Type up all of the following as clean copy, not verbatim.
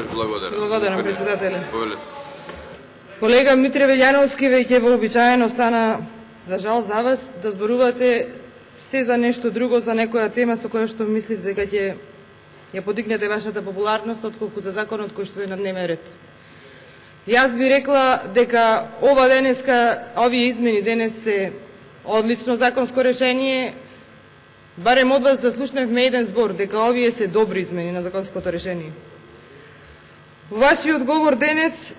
Благодарам, председателе. Колега Митре Велјановски, веќе вообичаено стана, за жал за вас, да зборувате се за нешто друго, за некоја тема со која што мислите дека ќе ја подигнете вашата популарност, отколку за законот кој што е на дневен ред. Јас би рекла дека овие измени денес се одлично законско решение, барем од вас да слушневме еден збор, дека овие се добри измени на законското решение. Во вашиот говор денес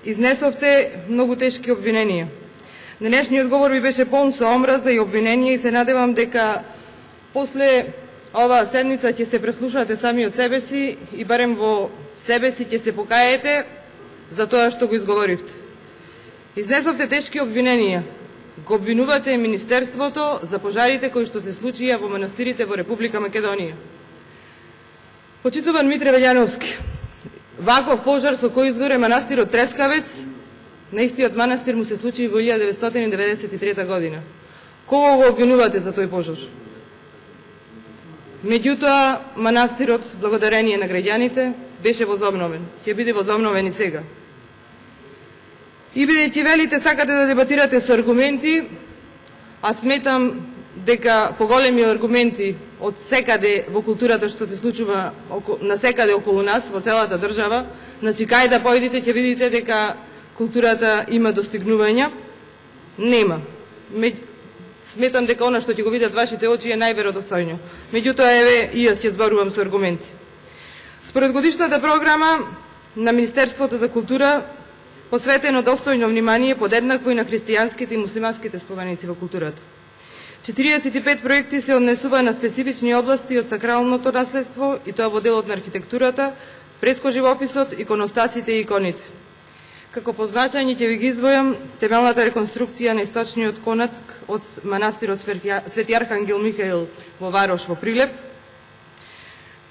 изнесовте многу тешки обвиненија. Денешниот говор ви беше полн со омраза и обвиненија и се надевам дека после оваа седница ќе се преслушате сами од себе си и барем во себе си ќе се покаете за тоа што го изговоривте. Изнесовте тешки обвиненија. Го обвинувате Министерството за пожарите кои што се случија во манастирите во Република Македонија. Почитуван Митре Велјановски, ваков пожар со кој изгоре манастирот Трескавец, на истиот манастир му се случи во 1993 година. Кого го обвинувате за тој пожар? Меѓутоа, манастирот, благодарение на граѓаните, беше возобновен. Ќе биде возобновен и сега. И бидејќи велите сакате да дебатирате со аргументи, а сметам дека поголеми аргументи од секаде во културата што се случува на секаде околу нас, во целата држава, значи кај да појдете ќе видите дека културата има достигнувања, нема. Сметам дека она што ќе го видат вашите очи е најверодостојно. Меѓутоа, еве, и јас ќе зборувам со аргументи. Според годишната програма на Министерството за култура, посветено достојно внимание подеднакво и на христијанските и муслиманските споменици во културата. 45 проекти се однесува на специфични области од сакралното наследство и тоа во делот на архитектурата, фреско-живописот, иконостасите и иконите. Како позначање ќе ви ги извојам темелната реконструкција на источниот конат од манастирот Свети Архангел Михаил во Варош во Прилеп,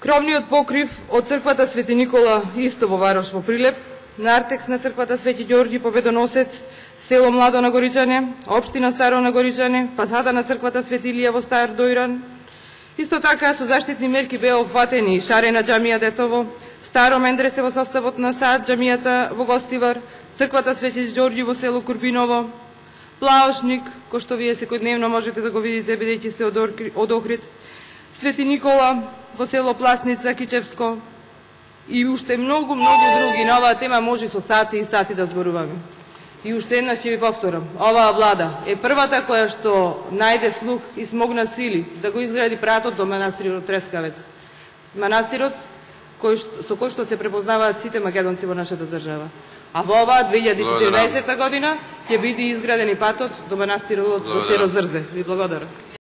кровниот покрив од црквата Свети Никола исто во Варош во Прилеп, нартекс на црквата Свети Ѓорѓи Победоносец, село Младо на Горичане, општина Старо на Горичане, фасада на црквата Свети Илија во Стар Дојран. Исто така со заштитни мерки беа опфатени Шарена џамија Детово, Старо Мендресе во составот на Саат џамијата во Гостивар, црквата Свети Ѓорѓи во село Курбиново, Плаошник, кој што вие секојдневно можете да го видите бидејќи сте од Охрид, Свети Никола во село Пласница, Кичевско и уште многу други. На оваа тема може со сати и сати да зборуваме. И уште еднаш ќе ви повторам, оваа влада е првата која што најде слух и смогна сили да го изгради пратот до манастирот Трескавец. Манастирот со кој што се препознаваат сите македонци во нашата држава. А во оваа 2014 година ќе биде изграден и патот до манастирот до Серозрзе. Ви благодарам.